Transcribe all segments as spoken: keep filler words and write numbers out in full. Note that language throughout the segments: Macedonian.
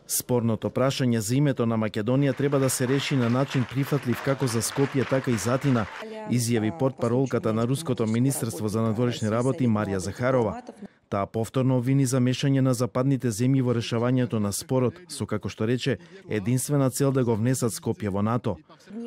Спорното прашање за името на Македонија треба да се реши на начин прифатлив како за Скопје, така и за Атина, изјави портпаролката на Руското министерство за надворешни работи Марија Захарова. Таа повторно обвини за мешање на западните земји во решавањето на спорот, со како што рече, единствена цел да го внесат Скопје во НАТО.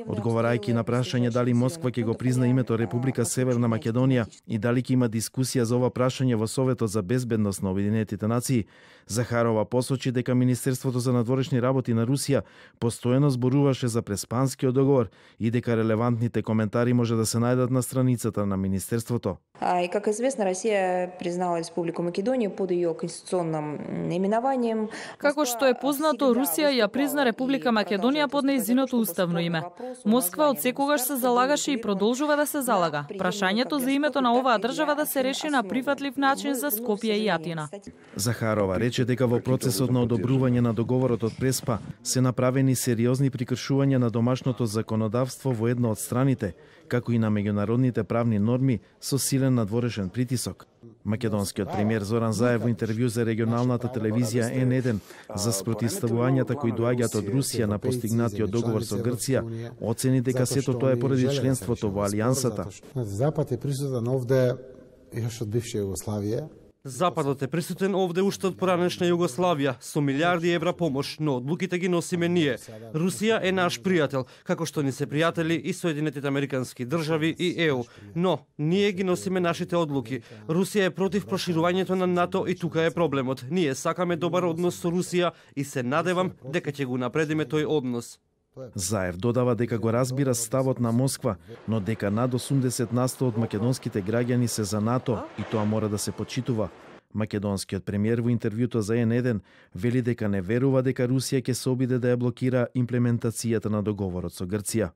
Одговарајќи на прашање дали Москва ќе го призна името Република Северна Македонија и дали ќе има дискусија за ова прашање во Советот за безбедност на Обединетите нации, Захарова посочи дека Министерството за надворешни работи на Русија постојано зборуваше за преспанскиот договор и дека релевантните коментари може да се најдат на страницата на Министерството. И как известно, Россия признала Республику Македонија под её конституционным именованием. Како што е познато, Русија ја призна Република Македонија под нејзиното уставно име. Москва од секогаш се залагаше и продолжува да се залага. Прашањето за името на оваа држава да се реши на прифатлив начин за Скопје и Атина. Захарова рече дека во процесот на одобрување на договорот од Преспа се направени сериозни прекршувања на домашното законодавство во една од страните, како и на меѓународните правни норми со силен надворешен притисок. Македонскиот премиер Зоран Заев во интервју за регионалната телевизија Ен еден за спротивставувањата кои доаѓаат од Русија на постигнатиот договор со Грција, оцени дека сето тоа е поради членството во Алијансата. Запад е присутен овде јаш од бивша Југославија. Западот е присутен овде уште од поранешна Југославија со милиарди евра помош, но одлуките ги носиме ние. Русија е наш пријател, како што ни се пријатели и Соединетите Американски држави и Е У. Но ние ги носиме нашите одлуки. Русија е против проширувањето на НАТО и тука е проблемот. Ние сакаме добар однос со Русија и се надевам дека ќе го напредиме тој однос. Заев додава дека го разбира ставот на Москва, но дека над осумдесет на сто од македонските граѓани се за НАТО и тоа мора да се почитува. Македонскиот премиер во интервјуто за Ен еден вели дека не верува дека Русија ќе се обиде да ја блокира имплементацијата на договорот со Грција.